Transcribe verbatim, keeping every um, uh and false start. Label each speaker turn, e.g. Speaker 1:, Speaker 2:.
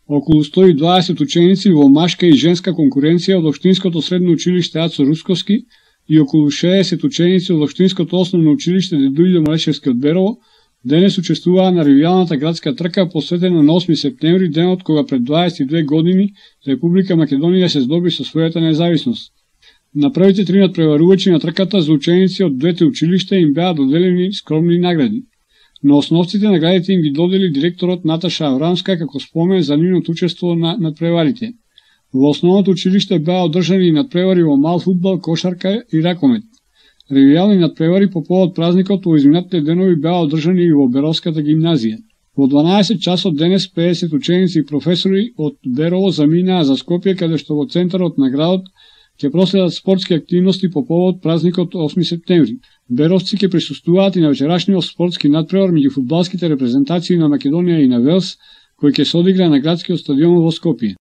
Speaker 1: Околу сто и дваесет ученици во машка и женска конкуренција од Општинското средно училиште Ацо Русковски и околу шеесет ученици од Општинското основно училиште Дедујдо Малешевски од Берово денес учествуваа на ревијалната градска трка посветена на осми септември, денот кога пред дваесет и две години Република Македонија се здоби со својата независност. На првите три надпреварувачи на трката за ученици од двете училишта им беа доделени скромни награди. На основците наградите им ги додели директорот Наташа Аврамска како спомен за нивното учество на надпреварите. Во основното училиште беа одржани надпревари во мал фудбал, кошарка и ракомет. Ревијални надпревари по повод празникот во изминатите денови беа одржани и во Беровската гимназија. Во дванаесет часот денес педесет ученици и професори од Берово заминаа за Скопје, каде што во центарот на градот ќе проследат спортски активности по повод празникот осми септември. Беровци ќе присуствуваат и на вечерашниот спортски надпревар меѓу фудбалските репрезентации на Македонија и на Велс, кој ќе се одигра на градскиот стадион во Скопје.